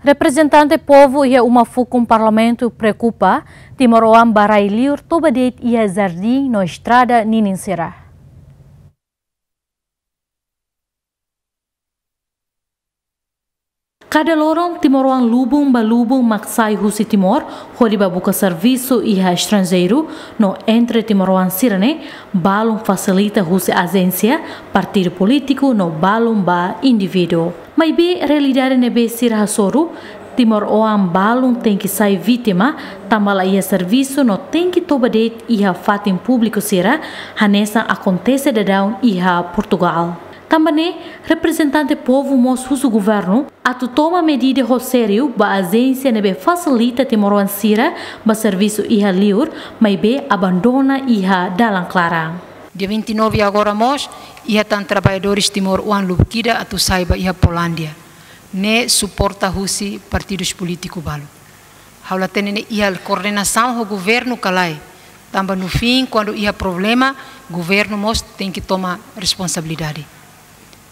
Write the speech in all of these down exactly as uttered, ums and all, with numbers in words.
Reprezentante povu iha uma fukun Parlamentu preokupa, timoroan ba rai-liur toba de'it iha jardín no estrada ninin sira. Kada loron, timoroan lubun ba lubun mak sai husi Timor hodi ba buka servisu iha estranjeiru, no entre timoroan sira-ne'e, balun fasilita husi ajénsia, partidu polítiku no balun ba indivíduu. Maibé realidade ne'ebé sira hasoru, timoroan balun tenke sai vítima, tanba la iha servisu no tenke toba de'it iha fatin públiku sira, hanesan akontese daudaun iha Portugál. Tanba ne'e, reprezentante povu mós husu governu atu toma medida ho sériu ba ajénsia ne'ebé fasilita timoroan sira ba servisu iha liur, maibé abandona iha dalan klaran. Dia vinte e nove agora mós, iha tan traballadores timoroan lubuk ida atu sai ba iha Polándia. Ne'e suporta husi partidus polítiku balu. Ha'u la hatene ne'e iha koordenasaun ho governu ka lae. Tanba no fim, kuandu iha problema, governu mós tenke toma responsabilidade.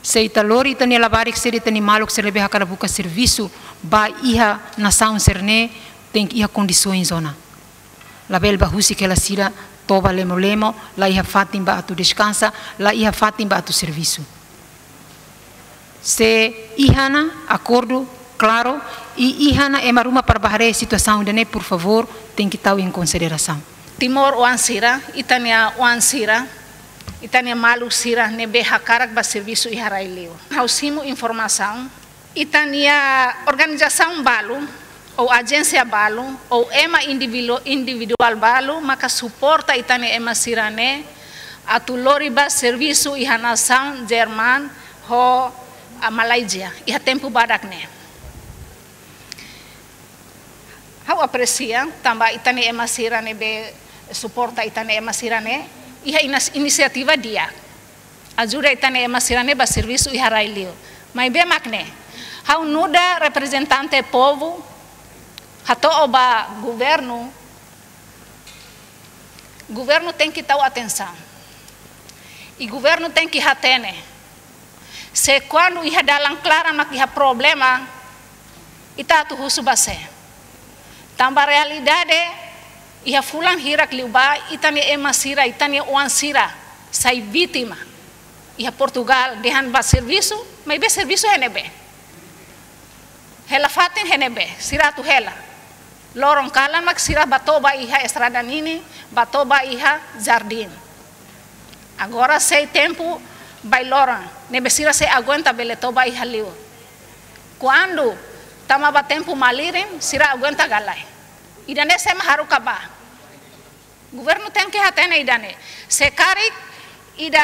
Se ita lori ita-nia labarik sira, ita-nia maluk sira ne'ebé hakarak buka servisu ba iha nasaun sira-ne'e, tenke iha kondisoens ona. Labele ba husik hela sira toba lemo-lemo, la iha fatin ba atu deskansa, la iha fatin ba atu servisu. Se iha ona akordu klaru, i iha ona ema ruma para ba haree situasaun ida-ne'e, por favór, tenke tau em konsiderasaun. Timoroan sira, ita-nia oan sira, ita-nia maluk sira ne'ebé hakarak ba servisu iha rai-liur. Ha'u simu informasaun, ita-nia organizasaun balu, ou ajénsia balu, ou ema individu-, individuál balu, maka suporta ita-nia ema sira-ne'e atu lori ba servisu iha nasaun Jerman ho, ah, Malázia, iha tempu badak ne'e. Ha'u apresia, tanba ita-nia ema sira ne'ebé suporta ita-nia ema sira-ne'e, iha inas-, inisiativa di'ak. Ajuda ita-nia ema sira-ne'e ba servisu iha rai-liur. Maibé mak ne'e, ha'u nu'udar reprezentante povu, hato'o ba governu, governu tenke tau atensaun. I governu tenke hatene. Se kuandu iha dalan klaran mak iha problema, ita atu husu ba sé? Tanba realidade, iha fulan hirak liubá, ita-nia ema sira, ita-nia oan sira sai vítima. Iha Portugál, dehan ba servisu, maibé servisu iha ne'ebé? Hela fatin iha ne'ebé, sira atu hela. Loron kalan mak sira ba toba iha estrada ninin, ba toba iha jardín. Agora sei tempu bailoran, ne'ebé sira sei aguenta bele toba iha liur. Kuandu tama ba tempu malirin, sira aguenta ka lae? Ida-ne'e sé mak haruka ba? Governu tenke hatene ida-ne'e. Se karik ida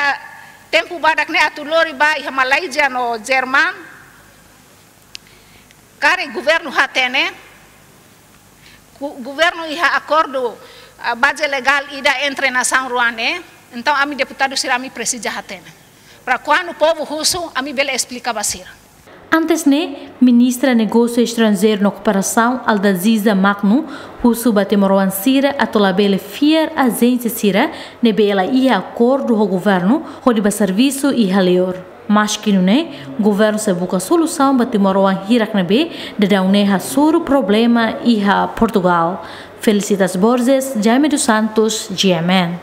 tempu badak ne'e atu lori ba iha Malázia no Jerman, karik governu hatene, ku-, governu iha akordu, ah, baze legál ida entre nasaun rua ne'e, entaun ami deputadu sira ami presiza hatene. Para kuandu povu husu, ami bele esplika ba sira. Antes ne'e, Ministra Negósiu Estranjeiru no Kooperasaun, Aldaziza Magno, husu ba timoroan sira atu labele fiar ajénsia sira ne'ebé la iha akordu ho governu hodi ba servisu iha liur. Maski nune'e, governu sei buka solusaun ba timoroan hirak ne'ebé daudaun ne'e hasoru problema iha Portugál. Felicitas Borges, Jaime dos Santos, G M N.